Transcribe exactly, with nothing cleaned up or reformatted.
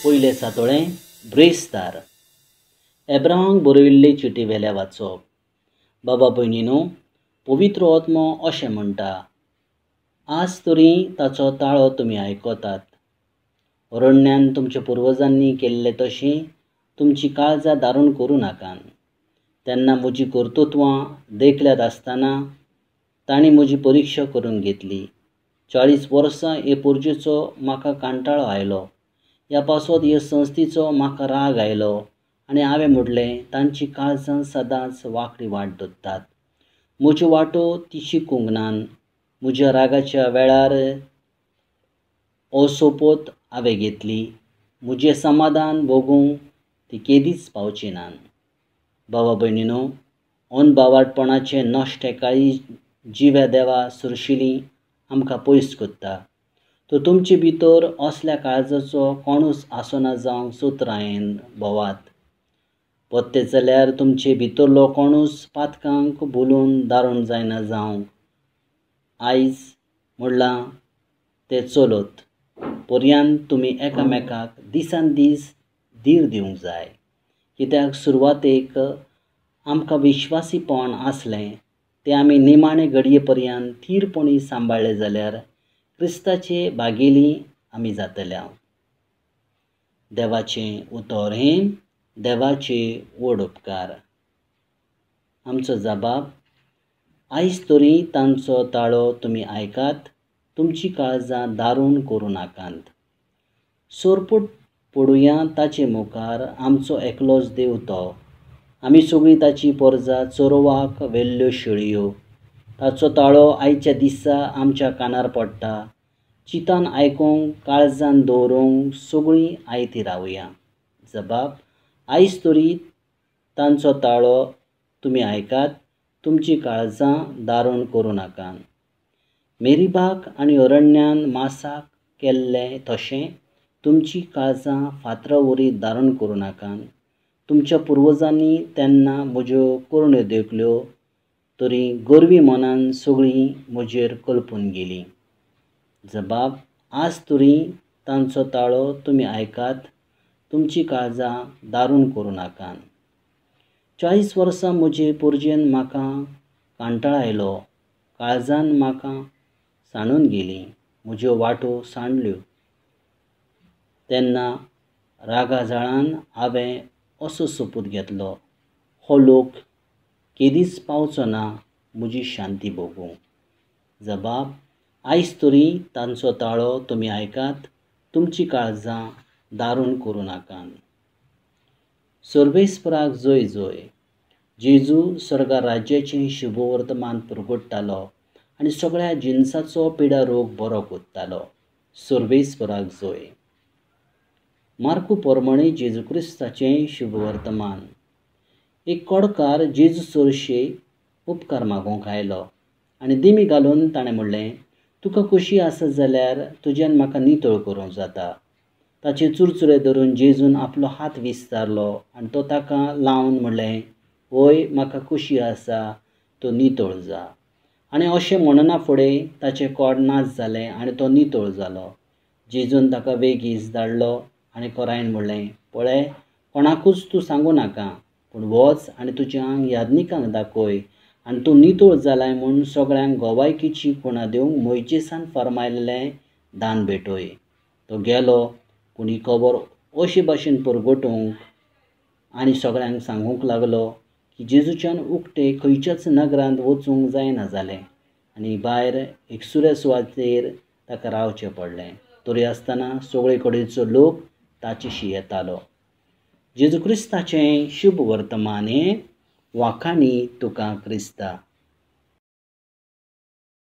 पयलें सातोळें ब्रेस्तार. एब्राहामाक बरयिल्ले चिटी वेल्या वाचप. बाबा भयणीनो, पवित्र आत्मो अशें म्हणटा, आज तरी ताचो ताळो तुमी आयकतात. अरण्यान तुमच्या पुर्वजांनी केल्लें तशें तुमची काळजां दारूण करूं नाकात. तेन्ना म्हजी कर्तृत्वां देखल्यात आसतना तांणी म्हजी परिक्षा करून घेतली. चाळीस वर्सां हे पोरजेचो म्हाका कांटाळो आयलो. ह्या पासत हे संस्थेचो म्हाका राग आयलो आनी हांवें म्हणलें, तांची काळजां सदांच वांकडी वाट धरतात. म्हज्यो वाटो ती शिकूंक नात. म्हज्या रागाच्या वेळार हो सोपोत हांवें घेतली, म्हजें समाधान भोगूंक ती केदीच पावची नात. बाबा भयणीनो, अनभावाटपणाचें नश्टें काळीज जिव्या देवा सुरशिली आमकां पयस करता. तर तुमचे भितर असल्या काळजाचो कोणूच आसना जावंक सुत्रायेन भोवात. पत्ते जाल्यार तुमचे भितरलो कोणूच पातकांक भुलून दारूण जायना जावंक. आयज म्हणलां तें चलत पर्यंत तुमी एकामेकाक दिसान दीस धीर दिवंक जाय. कित्याक सुरवातेक आमकां विश्वासीपण आसलें तें आमी निमाणे घडये पर्यंत थीरपणी सांबाळ्ळें जाल्यार क्रिस्ताचे भागेली आमी जातले. देवाचें उतर हें देवाचे व्हड उपकार. आमचो जबाब, आयज तरी तांचो ताळो तुमी आयकात, तुमची काळजां दारूण करूं नाकात. सोरपूट पडुया ताचे मुखार, आमचो एकलोच देव तो. आमी सगळीं ताची परजा, चोरोवाक व्हेल्ल्यो शेळयो. ताचो ताळो आयच्या दिसा आमच्या कानार पडटा. चिंतान आयकूंक, काळजान दवरूंक सगळीं आयती रावया. जबाब, आयज तरी तांचो ताळो तुमी आयकात, तुमची काळजां दारूण करूं नाकात. मेरीबाक आनी अरण्यान मासाक केल्लें तशें तुमची काळजां फातरा वरी दारूण करूं नाकात. तुमच्या पुर्वजांनी तेन्ना म्हज्यो करण्यो देखल्यो, तरी गर्वी मनान सगळीं म्हजेर कल्पून गेलीं. जबाब, आज तरी तांचो ताळो तुमी आयकात, तुमची काळजां दारूण करूं नाकात. चाळीस वर्सां म्हजे पोरजेन म्हाका कांटाळ आयलो. काळजान म्हाका सांडून गेली, म्हज्यो वाटो सांडल्यो. तेन्ना रागा जाळान हांवें असो सोपूत घेतलो, हो लोक केदीच पावचो ना म्हजी शांती भोगूंक. जबाब, आयज तरी तांचो ताळो तुमी आयकात, तुमची काळजां दारूण करूं नाकात. सर्वेस्पराक जय जय. जेजू स्वर्गा राज्याचें शुभवर्तमान परगट्टालो आनी सगळ्या जिनसाचो पिडा रोग बरो करतालो. सर्वेस्पराक जय. मार्कू पोरमणे जेजू क्रिस्ताचें शुभवर्तमान. एक कोडकार जेजू चोरशे उपकार मागूंक आयलो आनी दिमी घालून ताणें म्हणलें, तुका खोशी आसत जाल्यार तुज्यान म्हाका नितळ करूंक जाता. ताचे चुरचुरे धरून जेजून आपलो हात विस्तारलो आनी तो ताका लावन म्हणलें, वय म्हाका खोशी आसा, तूं नितळ जा. आनी अशें म्हणना फुडें ताचें कोड नाच जालें आनी तो नितळ जालो. जेजून ताका वेगीच धाडलो आनी कोरायन म्हणलें, पळय कोणाकूच तूं सांगूं नाका, पूण वच आनी तुजें आंग याज्ञिकांक दाखय आनी तूं नितळ जालाय म्हूण सगळ्यांक गोवायकीची खुणा दिवंक मोयजेसान फर्मायल्लें दान भेटय. तो गेलो, पूण ही खबर अशे भाशेन परगटूंक आनी सगळ्यांक सांगूंक लागलो की जेजूच्यान उकते खंयच्याच नगरांत वचूंक जायना जालें आनी भायर एकसुऱ्या सुवातेर ताका रावचें पडलें. तरी आसतना सगळे कडेचो लोक ताचेशी येतालो. जेजू क्रिस्ताचें शुभ वर्तमान हें वाखाणी तुका क्रिस्ता.